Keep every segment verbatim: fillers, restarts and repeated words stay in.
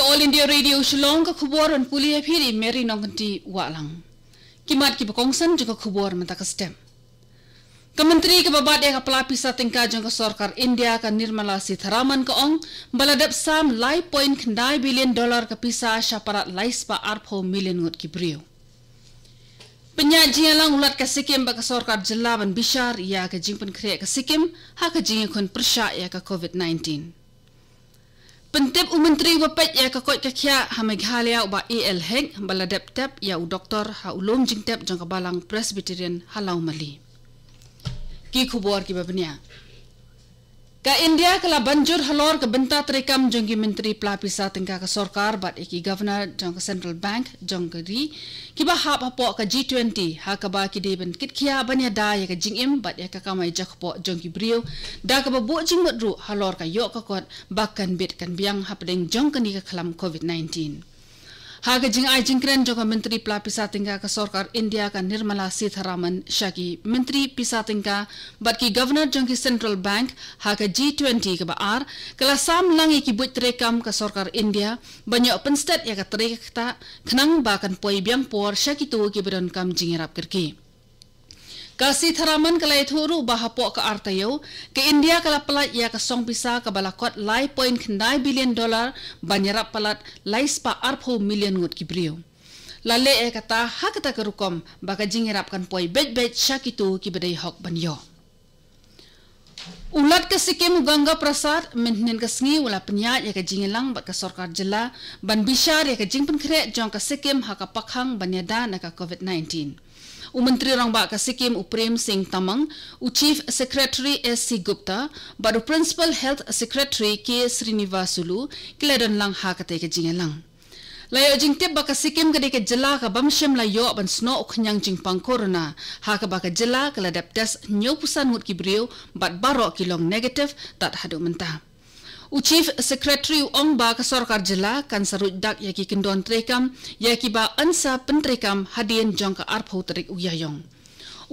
All India Radio Shillong, ka khubor ban pule ïa phi da i Mary Nongkynti Wahlang. Ki mat kiba kongsan jong ka khubor mynta ka step. Ka Myntri kaba bat ïa ka pla pisa tyngka jong ka sorkar India ka Nirmala Sitharaman ka ong ba la dep sam lai point khyndai billion dollar ka pisa sha palat lai spah arphew million ngut ki briew. Pynïaid jingïalang u Lat ka Sikkim bad ka sorkar jylla ban bishar ïa ka jingpynkhreh ka Sikkim ha ka jingïakhun pyrshah ïa ka covid nineteen. Pyntip u Myntri uba peit ïa ka koit ka khiah ha Meghalaya, u Bah A L Hek, ba la dep tep ïa u doktor ha u lum jingtep jong ka Balang Presbyterian ha Lawmali. Ki khubor kiba bniah. Ka India ka la ban jur halor ka bynta treikam jong ki Myntri pla pisa tyngka ka sorkar bad ïa ki Governor jong ka Central Bank jong ka ri, kiba hap hapoh ka G twenty, ha kaba ki dei ban kit khia ban ïada ïa ka jingim bad ïa ka kamai jakpoh jong ki briew, da kaba buh jingmut ruh halor ka ïoh ka kot ba kan bit kan biang hapdeng jong kane ka khlam covid nineteen. Ha ka jingai jingkren jong ka Myntri pla pisa tyngka ka sorkar India ka Nirmala Sitharaman sha ki Myntri pisa tyngka bad ki Governor jong ki Central Bank ha ka G twenty kaba ar, ka la sam lang ïa ki buit treikam ka sorkar India ban ïoh pynstet ïa ka trei ka ktah, khnang ba kan poi biang por sha kito kiba donkam jingïarap kyrkieh. Ka Sitharaman ka la ïathuh ruh ba hapoh ka ar taïew, ka India ka la pyllait ïa ka song pisa kaba la kot lai point khyndai billion dollar ban ïarap palat lai spah arphew million ngut ki briew. La leh ïa kata ha kata ka rukom ba ka jingïarap kan poi beit beit sha kito kiba dei hok ban ïoh. U Lat ka Sikkim u Ganga Prasad mynhynnin ka sngi u la pynïaid ïa ka jingïalang bad ka sorkar jylla ban bishar ïa ka jingpynkhreh jong ka Sikkim ha ka pakhang ban ïada na ka covid nineteen. U Myntri Rangbah ka Sikkim u Prem Singh Tamang, u Chief Secretary S C Gupta bad u Principal Health Secretary K Srinivasulu ki la don lang ha katei ka jingïalang. La ïoh jingtip ba ka Sikkim ka dei ka jylla ka bym shym la ïoh ban snoh u khñiang jingpang corona, ha kaba ka jylla ka la dep test hynñiewphew san ngut ki briew bad baroh ki long negative tad haduh mynta. U Chief Secretary u ong ba ka sorkar jylla kan sa ruid dak ïa ki kyndon treikam ïa kiba yn sa pyntreikam hadien jong ka arphew tarik u Ïaïong.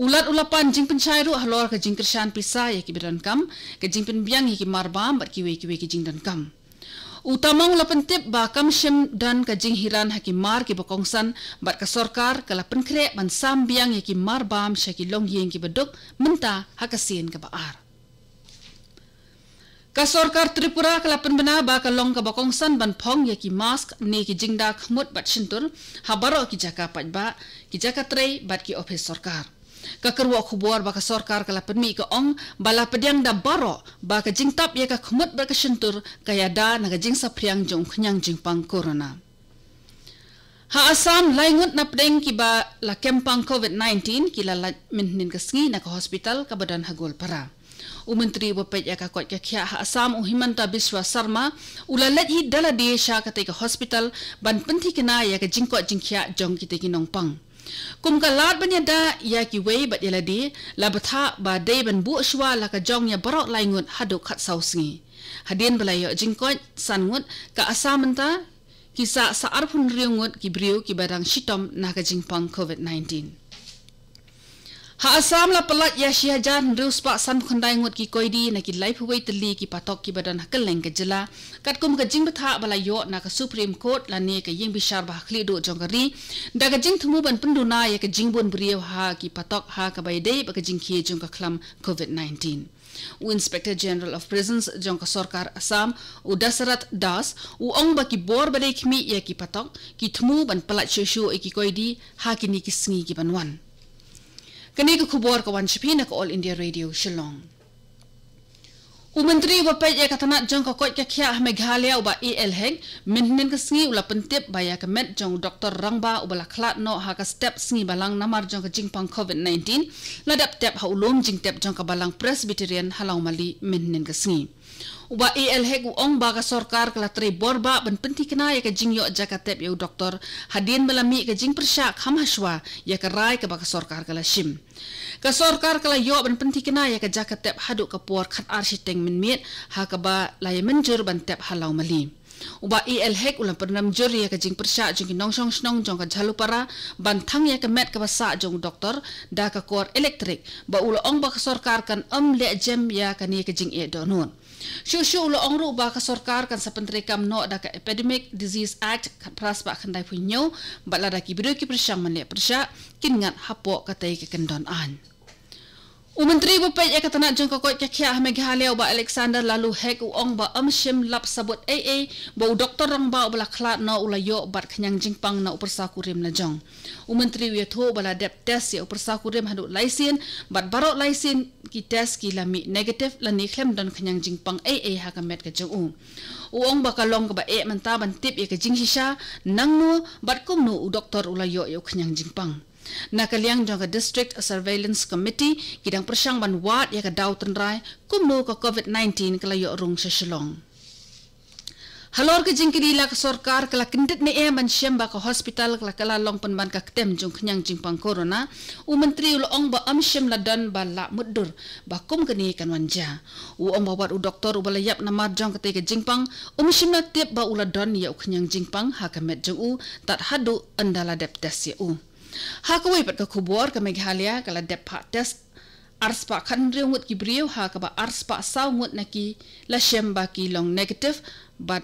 U Lat u la pan jingpynshai ruh halor ka jingkyrshan pisa ïa kiba donkam, ka jingpynbiang ïa ki marbam bad kiwei kiwei ki jingdonkam. U Tamang u la pyntip ba kam shym don ka jinghiran ha ki mar kiba kongsan bad ka sorkar ka la pynkhreh ban sam biang ïa ki marbam sha ki longïing kiba duk mynta ha ka sien kaba ar. Ka sorkar Tripura ka la pynbna ba ka long kaba kongsan ban phong ïa ki mask ne ki jingda khmut bad shyntur ha baroh ki jaka paidbah, ki jaka trei bad ki ophis sorkar. Ka kyrwoh khubor ba ka sorkar ka la pynmih ka ong ba la pdiang da baroh ba ka jingtap ïa ka khmut bad ka shyntur ka ïada na ka jingsaphriang jong u khñiang jingpang corona. Ha Assam, lai ngut napdeng kiba la kem pang covid nineteen ki la lait mynhynnin ka sngi na ka hospital kaba don ha Goalpara. U Myntri uba peit ïa ka koit ka khiah ha Assam u Himanta Biswa Sarma u la leit hi da lade sha katei ka hospital ban pynthikna ïa ka jingkoit jingkhiah jong kitei ki nongpang. Kum ka lad ban ïada ïa kiwei bad ïa lade, la bthah ba dei ban buh shuwa la ka jong ïa baroh lai ngut haduh khatsaw sngi. Hadien ba la ïoh jingkoit san ngut, ka Assam mynta ki sah sa arphew hynriew ngut ki briew kiba dang shitom na ka jingpang covid nineteen. Ha Assam la pyllait ïa shi hajar hynriew spah sanphew khyndai ngut ki koidi na ki laiphew wei tylli ki patok kiba don ha kylleng ka jylla, katkum ka jingbthah ba la ïoh na ka Supreme Court lane ka ïing bishar ba ha khlieh duh jong ka ri, da ka jingthmu ban pynduna ïa ka jingbun briew ha ki patok ha kaba ïadei bad ka jingkhie jong ka khlam covid nineteen. U Inspector General of Prisons jong ka sorkar Assam, u Dasarath Das, u ong ba ki bor ba dei khmih ïa ki patok ki thmu ban pyllait shuh shuh ïa ki koidi ha kine ki sngi kiban wan. Kane ka khubor ka wan sha phi na ka All India Radio Shillong. U Myntri uba peit ïa ka tnat jong ka koit ka khiah ha Meghalaya, u Bah A L Hek, mynhynnin ka sngi u la pyntip ba ïa ka met jong u doktor rangbah uba la khlad noh ha ka step sngi balang namar jong ka jingpang covid nineteen la dep tep ha u lum jingtep jong ka Balang Presbyterian ha Lawmali mynhynnin ka sngi. U Bah A L Hek u ong ba ka sorkar ka la trei bor bah ban pynthikna ïa ka jingïoh jaka tep ïa u doktor hadien ba la mih ka jingpyrshah kham hashwa ïa ka rai kaba ka sorkar ka la shim. Ka sorkar ka la ïoh ban pynthikna ïa ka jaka tep haduh ka por khatar shiteng mynmiet ha kaba la ïa mynjur ban tep ha Lawmali. U Bah A L Hek u la pynrem jur ïa ka jingpyrshah jong ki nongshong shnong jong ka Jhalupara ban thang ïa ka met kaba sah jong u doktor da ka kor elektrik, ba u la ong ba ka sorkar kan ym leh jem ïa kane ka jingeh dohnud. Shuh shuh u la ong ruh ba ka sorkar kan sa pyntreikam noh da ka Epidemic Disease Act khatphra spah khyndai phew hynñiew, bad lada ki briew ki pyrshang ban leh pyrshah, kin ngat hapoh katei ka kyndon aiñ. U Myntri uba peit ïa ka tnat jong ka koit ka khiah ha Meghalaya, u Bah Alexander Laloo Hek, u ong ba ym shym lap sabut ei ei ba u doktor rangbah uba la khlad noh u la ïoh bad khñiang jingpang na u pyrsa kurim lajong. U Myntri u ïathuh ba la dep test ïa u pyrsa kurim haduh lai sien, bad baroh lai sien ki test ki la mih negative lane khlem don khñiang jingpang ei ei ha ka met ka jong u. U ong ba ka long kaba eh mynta ban tip ïa ka jingshisha, nangno bad kumno u doktor u la ïoh ïa u khñiang jingpang. Na ka liang jong ka District Surveillance Committee, ki dang pyrshang ban wad ïa ka daw tynrai kumno ka COVID nineteen ka la ïoh rung sha Shillong. Halor ka jingkylli la ka sorkar ka la kyndit ne em ban shem ba ka hospital ka la kylla long pynban ka ktem jong khñiang jingpang corona, u Myntri u la ong ba ym shym la don ba lah mutdur ba kum kane kan wan jia. U ong ba wat u doktor uba la ïap namar jong katei ka jingpang, um shym la tip ba u la don ïa u khñiang jingpang ha ka met jong u tad haduh ynda la dep test ïa u. Ha kawei pat ka khubor, ka Meghalaya ka la dep phah test ar spah khathynriew ngut ki briew, ha kaba ar spah saw ngut na ki la shem ba ki long negative, bad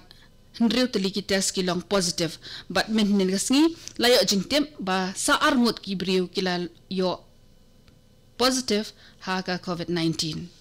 hynriew tylli ki test ki long positive, bad mynhynnin ka sngi la ïoh jingtip ba sa ar ngut ki briew ki la ïoh positive ha ka COVID nineteen.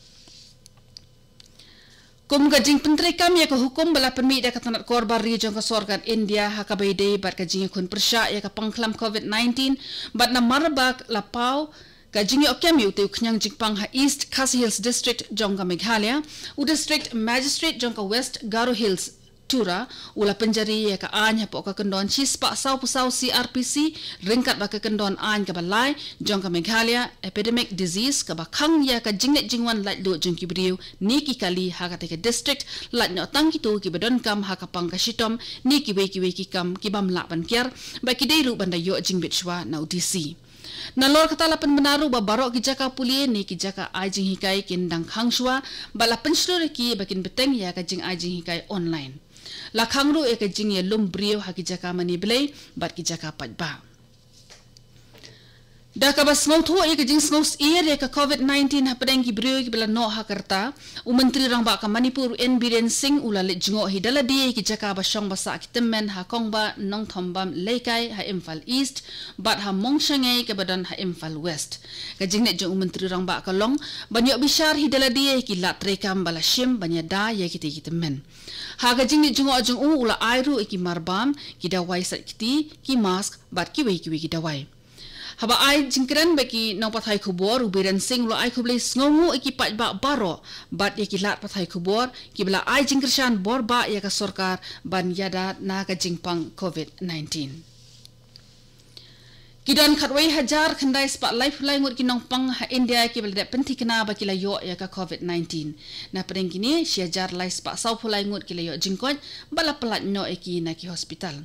Kum ka jingpyntreikam ïa ka hukum ba la pynmih da ka tnat korbar ri jong ka sorkar India ha kaba ïadei bad ka jingïakhun pyrshah ïa ka pangkhlam COVID nineteen, bad namar ba la paw ka jingïoh kem ïa utei u khñiang jingpang ha East Khasi Hills District jong ka Meghalaya, u District Magistrate jong ka West Garo Hills, Tura, u la pynjari ïa ka aiñ hapoh ka kyndon shispah sawphew saw C R P C, ryngkat bad ka kyndon aiñ kaba lai jong ka Meghalaya Epidemic Disease, kaba khang ïa ka jingleit jingwan laitluid jong ki briew ne ki kali ha katei ka district, lait noh tang kito kiba donkam ha ka pang ka shitom ne kiwei kiwei ki kam ki bym lah ban kiar, ba ki dei ruh ban da ïoh jingbit shuwa na u D C. Nalor kata la pynbna ruh ba baroh ki jaka pule ne ki jaka ai jinghikai kin dang khang shuwa, bad la pynshlur ïa ki ba kin bteng ïa ka jingai jinghikai online. La khang ruh ïa ka jingïalum briew ha ki jaka mane blei bad ki jaka paidbah. Da kaba sngewthuh ïa ka jingsngewsyier ïa ka COVID nineteen hapdeng ki briew kiba la noh ha ka rta, u Myntri Rangbah ka Manipur, u N Biren Singh, u la leit jngoh hi da lade ïa ki jaka ba shong ba sah ki tymmen ha Kongba, Nongthombam, Leikai ha Imphal East, bad ha Mongshangei kaba don ha Imphal West. Ka jingleit jong u Myntri Rangbah ka long ban ïoh bishar hi da lade ïa ki lad treikam ba la shim ban ïada ïa kitei ki tymmen. Ha ka jingleit jngoh jong u, u la ai ruh ïa ki marbam, ki dawai sait kti, ki mask bad kiwei kiwei ki dawai. Haba ai jingkren bad ki nongpathai khubor, u Biren Singh u la ai khublei sngewnguh ïa ki paidbah baroh bad ïa ki lad pathai khubor kiba la ai jingkyrshan borbah ïa ka sorkar ban ïada na ka jingpang COVID nineteen. Ki don khatwei hajar khyndai spah laiphew lai ngut ki nongpang ha India kiba la dep pynthikna ba ki la ïoh ïa ka COVID nineteen. Napdeng kine, shi hajar lai spah sawphew lai ngut ki la ïoh jingkoit bad la pyllait noh ïa ki na ki hospital.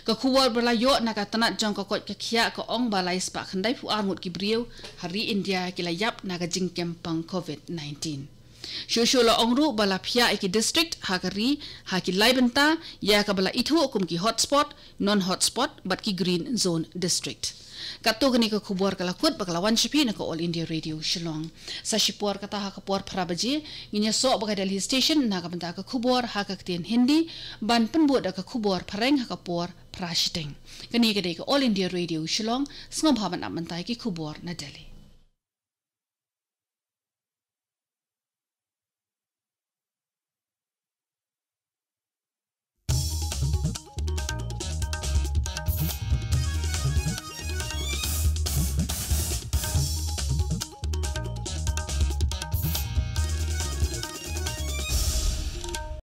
Ka khubor ba la ïoh na ka tnat jong ka koit ka khiah ka ong ba lai spah khyndaiphew ar ngut ki briew ha ri India ki la ïap na ka jingkem pang COVID nineteen. Shuh shuh la ong ruh ba la phiah ïa ki district ha ka ri ha ki lai bynta, ïa kaba la ithuh kum ki hotspot, non-hotspot bad ki green zone district. Katto katne ka khubor ka la kut bad ka la wan sha phi na ka All India Radio Shillong. Sa shipor kata ha ka por phra baje ngin ïasoh bad ka Delhi Station na ka bynta ka khubor ha ka ktien Hindi, ban pynbud da ka khubor phareng ha ka por phra shiteng. Kane ka dei ka All India Radio Shillong, sngewbha ban ap mynta ïa ki khubor na Delhi.